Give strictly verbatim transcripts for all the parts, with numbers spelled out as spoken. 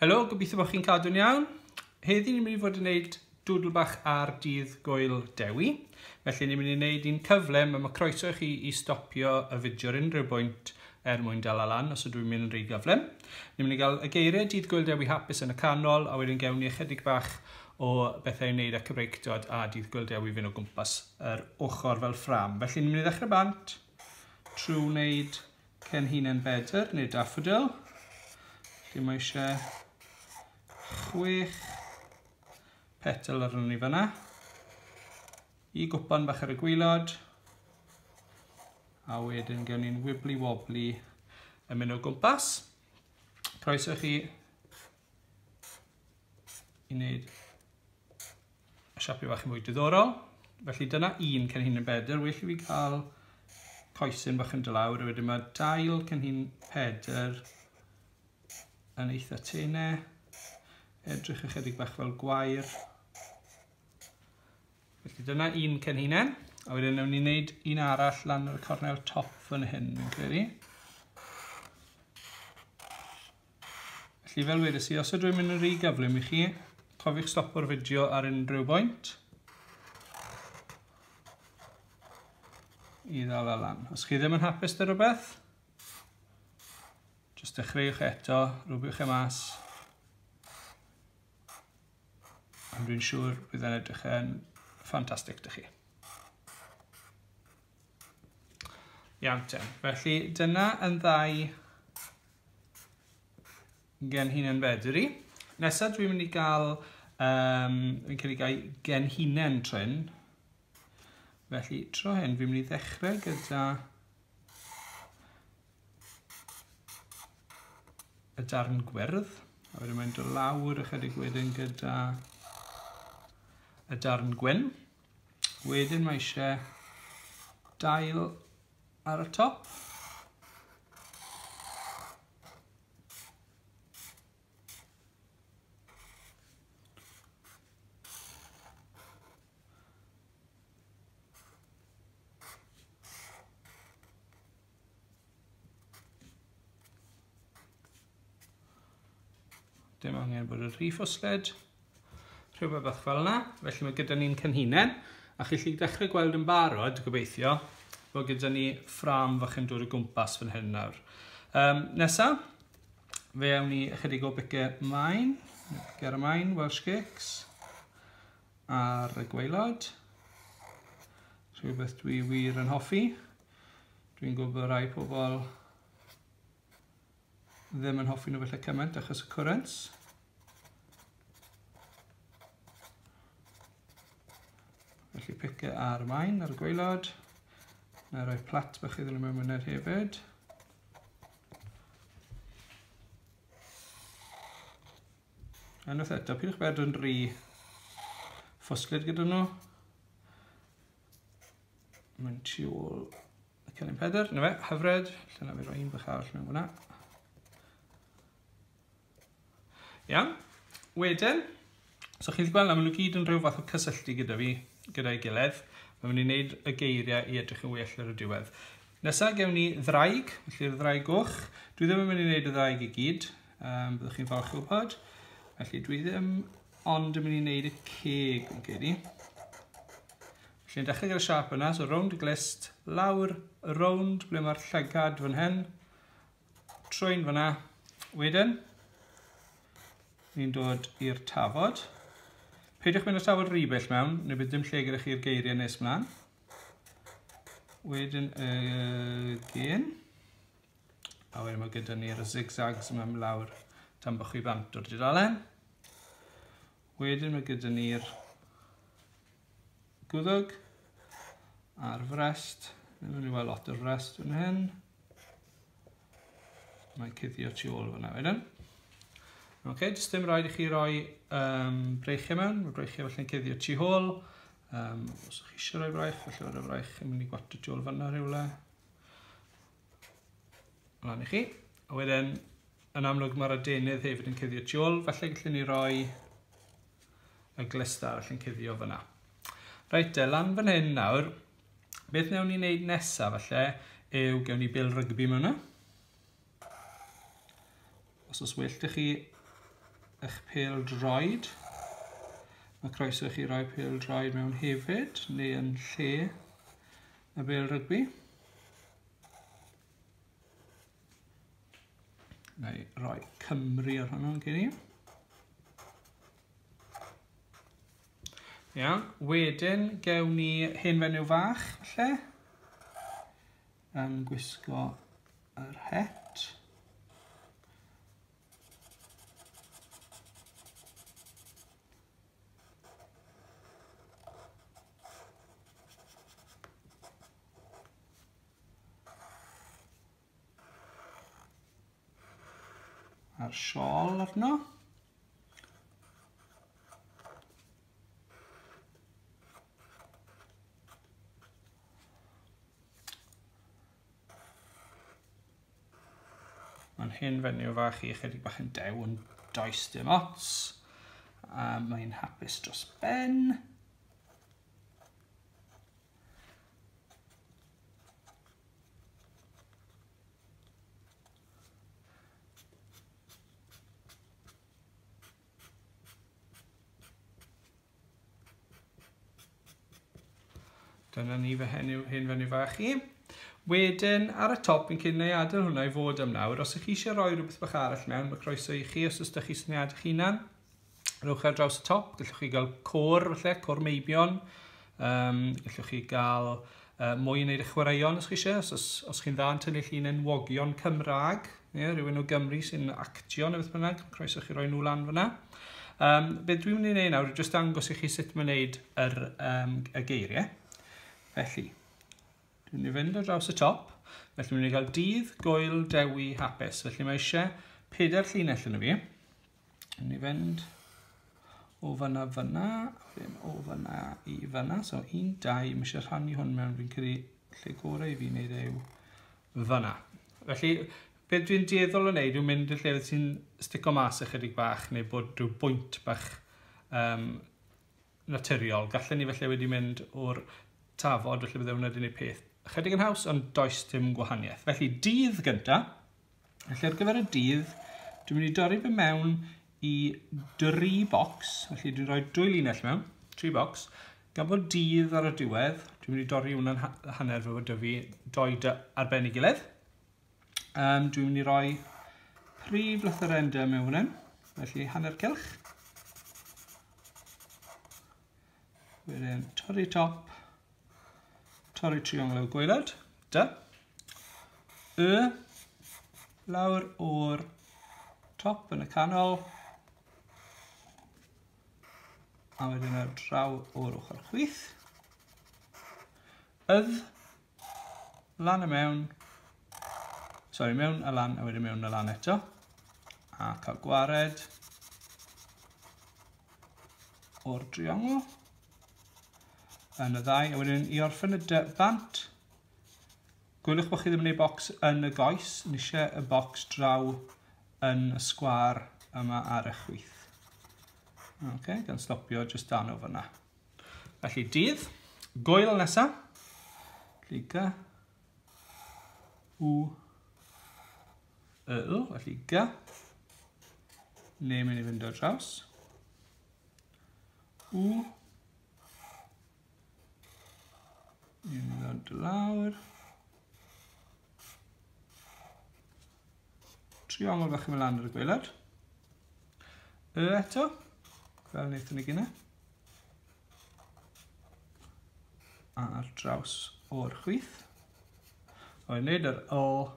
Helo, gobeithio bod chi'n cadw'n iawn. Heddi ni'n mynd i fod yn gwneud doodle bach ar dydd Gŵyl Dewi. Felly ni'n mynd i wneud un cyflym, a mae croeso i chi i stopio y fideo ar unrhyw bwynt er mwyn dala lan os ydw i'n mynd yn rhy gyflym. Ni'n mynd i gael y geiriau Dydd Gŵyl Dewi hapus yn y canol, a wedyn gewn ni ychydig bach o bethau i wneud â Cymreictod a Dydd Gŵyl Dewi fynd o gwmpas yr ochr fel ffram. Felly ni'n mynd i ddechrau bant trwy wneud cenhinen bedr neu daffodil. Felly mae eisiau chwech petal arno ni fanna. I gwpan bach ar y gwaelod. A wedyn gewn ni'n wibbly wobbly yn mynd o gwmpas. Croeso chi i wneud y siapiau bach yn mwy diddorol. Felly dyna un cenhinen bedr. Well i fi gael coesyn bach yn dod lawr. A wedyn mae dail cenhin pedr yn eitha tenau. Edrych ychydig bach fel gwair. Felly dyna un cenhinen. A wedyn nawn ni wneud un arall lan ar y cornel top fan hyn, fi'n credu. Felly fel wedes i, os ydw i'n mynd yn rhy gyflym i chi, cofiwch stopo'r fideo ar unrhyw bwynt i ddal lan. Os chi ddim yn hapus 'da rhywbeth, jyst dechreuwch eto, rwbiwch e mas. Ond dwi'n siŵr bydd e'n edrych yn ffantastig 'da chi. Iawn te. Felly dyna yn ddau genhinen bedr i. Nesa dwi'n mynd i gael, um, fi'n credu gael genhinen trin. Felly tro hyn fi'n mynd i ddechrau gyda y darn gwyrdd. A wedyn mae'n dod lawr ychydig wedyn gyda y darn gwyn. Wedyn mae eisiau dail ar y top. Dim angen bod yn rhy ffwslyd. Rhywbeth bach fel yna. Felly mae gyda ni'n cenhinen. A chi gallu dechrau gweld yn barod, gobeithio, bod gyda ni ffrâm fach yn dod o gwmpas fan hyn nawr. Um, nesa, fe awn ni ychydig o bicau maen, pice ar y maen, Welsh Cakes, ar y gwaelod. Rhywbeth dwi wir yn hoffi. Dwi'n gwybod rai pobl ddim yn hoffi nhw felly cymaint achos y cwrens. Felly pice ar y maen, ar y gwaelod. Na i roi plat bach iddyn nhw mewn munud hefyd. A unwaith eto, pidwch bod yn rhy ffwslyd gyda nhw. Mae'n tu ôl y cennin pedr. Na fe, hyfryd. Felly na fi roi un bach arall mewn hwnna. Iawn. Wedyn, so chi wedi gweld na, maen nhw gyd yn rhyw fath o cysylltu gyda fi, gyda'i gilydd. Mae'n mynd i wneud y geiriau i edrych yn well ar y diwedd. Nesa gewn ni ddraig, felly'r ddraig goch. Dwi ddim yn mynd i wneud y ddraig i gyd, um, byddwch chi'n falch o wybod. Felly dwi ddim ond yn mynd i wneud y ceg, yn credu. Felly'n dechrau gyda'r siâp yna, so rownd y glust, lawr, rownd ble mae'r llygad fan hyn, trwy'n fyna. Wedyn, ni'n dod i'r tafod. Peidiwch mynd â'r tafod rhy bell mewn, neu bydd dim lle gyda chi'r geiriau nes mlaen. Wedyn y gen. A wedyn mae gyda ni'r zigzags yma lawr tan bod chi bant o'r dudalen. Wedyn mae gyda ni'r gwddwg a'r frest. Ddim yn i weld lot o'r frest fan hyn. Mae'n cuddio tu ôl fyna wedyn. Ok, jyst dim rhaid i chi roi um, breichiau mewn. Mae breichiau felly'n cuddio tu hôl. Um, os ydych chi eisiau rhoi braich, felly mae'r braich yn mynd i gwato tu ôl fan'na rhywle. Lan i chi. A wedyn, yn amlwg mae'r adenydd hefyd yn cuddio tu ôl, felly gallwn ni roi y glust arall yn cuddio fan'na. Reit te, lan fan hyn nawr, beth wnawn ni wneud nesaf falle yw gewn ni bêl rygbi mewn yna. Os oes well 'da chi eich pêl droed. Mae croeso i chi roi pêl droed mewn hefyd, neu yn lle y bêl rygbi. Na i roi Cymru ar hwnnw'n gyn i. Iawn, wedyn gewn ni hen fenyw fach, falle, yn gwisgo yr het. A'r siôl arno. Mae'n hen fenyw fach i ychydig bach yn dew, yn does dim ots. A mae'n hapus dros ben. Dyna ni fy hen, hen fenyw fach i. Wedyn, ar y top, fi'n cyn ei adael hwnna i fod am nawr. Os ych chi eisiau rhoi rhywbeth bach arall mewn, mae croeso i chi os oes ydych chi syniad eich hunan. Rhowch ar draws y top, gallwch chi gael côr, falle, côr meibion. Um, gallwch chi gael uh, mwy i wneud y chwaraeon os chi eisiau. Os, os, os chi'n dda yn tynnu llun enwogion Cymraeg, ie, rhywun o Gymru sy'n actio neu beth bynnag, croeso chi roi nhw lan fyna. Um, be dwi'n mynd i wneud nawr yw jyst dangos i chi sut mae'n wneud yr, um, y geiriau. Felly, dwi'n mynd i fynd ar draws y top. Felly, dwi'n mynd i gael dydd, gwyl, dewi, hapus. Felly, mae eisiau pedair llinell yn y fi. Dwi'n mynd i fynd o fyna fyna, ddim o fyna i fyna. So, un, dau, mae eisiau rhannu hwn mewn. Fi'n credu lle gorau i fi wneud yw fyna. Felly, beth dwi'n dueddol o wneud yw mynd i'r llefydd sy'n stico mas ychydig bach neu bod rhyw bwynt bach um, naturiol. Gallen ni felly wedi mynd o'r tafod, felly bydde hwnna wedi gwneud peth ychydig yn haws, ond does dim gwahaniaeth. Felly, dydd gynta. Felly, ar gyfer y dydd, dwi'n mynd i dorri fe mewn i dri bocs. Felly, dwi'n rhoi dwy linell mewn, tri bocs. Gan bod dydd ar y diwedd, dwi'n mynd i dorri hwnna'n hanner fel bod 'da fi doi dy ar ben ei gilydd. Um, dwi'n mynd i roi prif lythyren D mewn fan hyn, felly hanner cylch. Wedyn torri top, torri triongl o'r gwaelod, D. Y, lawr o'r top yn y canol, a wedyn ar draw o'r ochr chwith. Ydd, lan a mewn, sorry, mewn a lan, a wedyn mewn a lan eto. A cael gwared o'r triongl. Yn y ddau, a wedyn i orffen y D bant, gwylwch bod chi ddim yn gwneud bocs yn y goes, ni eisiau y bocs draw yn y sgwâr yma ar y chwith. Okay, gan stopio jyst dan o fyna. Felly dydd, gwyl nesa, felly G, U, Y, L, felly G, neu mynd i fynd ar draws, U, ni'n mynd i ddod lawr, triongl bach yn mynd lan ar y gwaelod, Y eto, fel wnaethon ni gynne, a ar draws o'r chwith. A wedyn wneud yr L,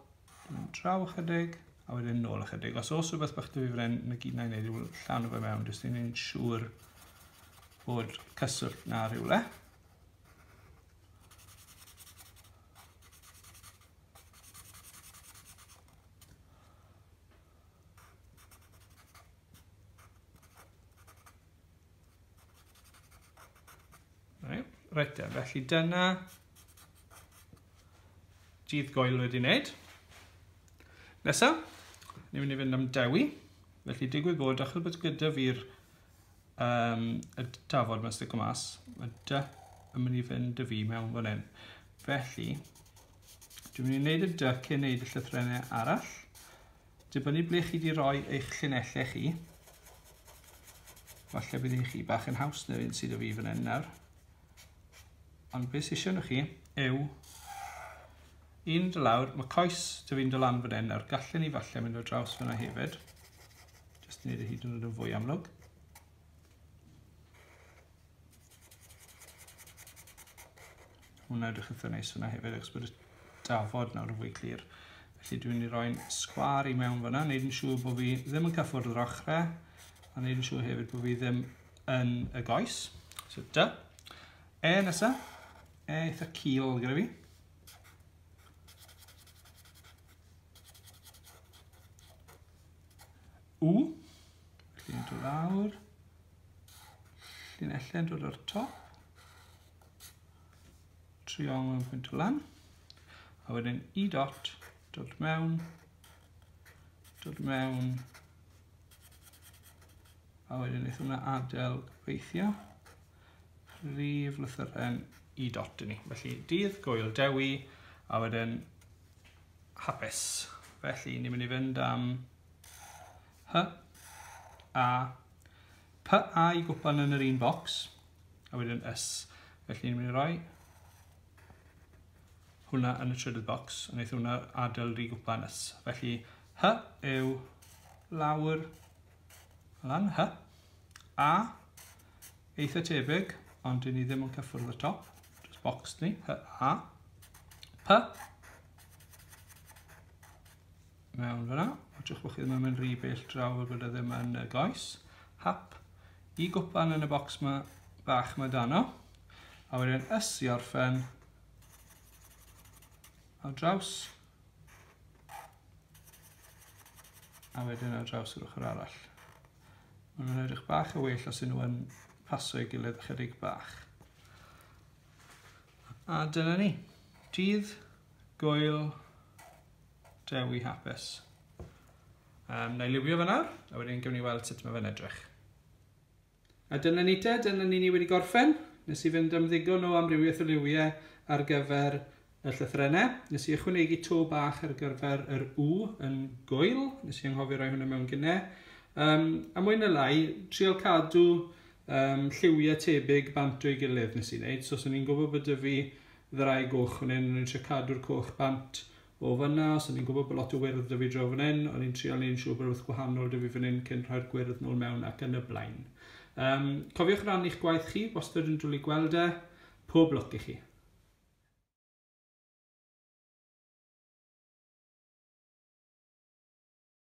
dwi'n draw ychydig, a wedyn nôl ychydig. Os oes rhywbeth bach 'da fi fan hyn, na gyd na i wneud yw llanw fe mewn, jyst i wneud siŵr bod cyswllt na rhywle. Reit, felly dyna dydd gwyl wedi wneud. Nesa, ni'n mynd i fynd am dewi. Felly digwydd bod, achos bod gyda fi'r um, y tafod mae'n stico mas, mae D yn mynd i fynd â fi mewn fan hyn. Felly, dwi'n mynd i wneud y D cyn wneud y llythrennau arall. Dibynnu ble chi wedi rhoi eich llinellau chi. Falle bydd i chi bach yn haws na'r un sydd o fi fan hyn nawr. Ond beth sydd eisiau nhw chi yw un dod lawr, mae coes dy fi'n dod lan fan hyn nawr. Gallen ni falle mynd o draws fyna hefyd. Jyst wneud e hyd yn oed yn fwy amlwg. Hwna edrych eitha neis fyna hefyd, achos bod y dafod nawr yn fwy clir. Felly dwi'n mynd i roi'n sgwâr i mewn fyna, wneud yn siŵr bod fi ddim yn cyffwrdd yr ochrau, a wneud yn siŵr hefyd bod fi ddim yn y goes. So dy. E nesa. E eitha cul gyda fi. U. Felly yn dod lawr. Llinellau'n dod o'r top. Triongl yn pwynt o lan. A wedyn I dot, dod mewn, dod mewn, a wedyn wnaeth hwnna adael gobeithio prif lythyren I dot i ni. Felly dydd gwyl Dewi, a wedyn hapus. Felly ni'n mynd i fynd am H, A, P, A i gwpan yn yr un bocs, a wedyn S. Felly ni'n mynd i roi hwnna yn y trydydd bocs, a wnaeth hwnna adael i gwpan S. Felly H yw lawr, lan, H. A, eitha tebyg, ond dyn ni ddim yn cyffwrdd y top. Just box ni, H, A. P, mewn fyna. Watchwch bod chi ddim yn mynd rhy bell draw fel bod e ddim yn y goes. Hap, i gwpan yn y bocs ma, bach ma dano. A wedyn S i orffen ar draws, a wedyn ar draws yr ochr arall. Maen nhw'n edrych bach o well os ydyn nhw yn paso ei gilydd ychydig bach. A dyna ni. Dydd gwyl Dewi hapus. Um, na i liwio fe nawr, a wedyn gewn ni weld sut mae fe'n edrych. A dyna ni te, dyna ni ni wedi gorffen. Nes i fynd am ddigon o amrywiaeth o liwiau ar gyfer y llythrennau. Nes i ychwanegu to bach ar gyfer yr U yn gwyl. Nes i anghofio rhoi hwnna mewn gynnau. Um, a mwy na lai, trial cadw um, lliwiau tebyg bant o'i gilydd nes i wneud. So, os o'n i'n gwybod bod 'da fi ddau goch fan hyn, o'n i'n trio cadw'r coch bant o fyna. Os o'n i'n gwybod bod lot o wyrdd 'da fi draw fan hyn, o'n i'n trial neud yn siŵr bod rhywbeth gwahanol 'da fi fan hyn cyn rhoi'r gwyrdd nôl mewn ac yn y blaen. Um, cofiwch rannu'ch gwaith chi, wastad yn dwlu gweld e. Pob lwc i chi.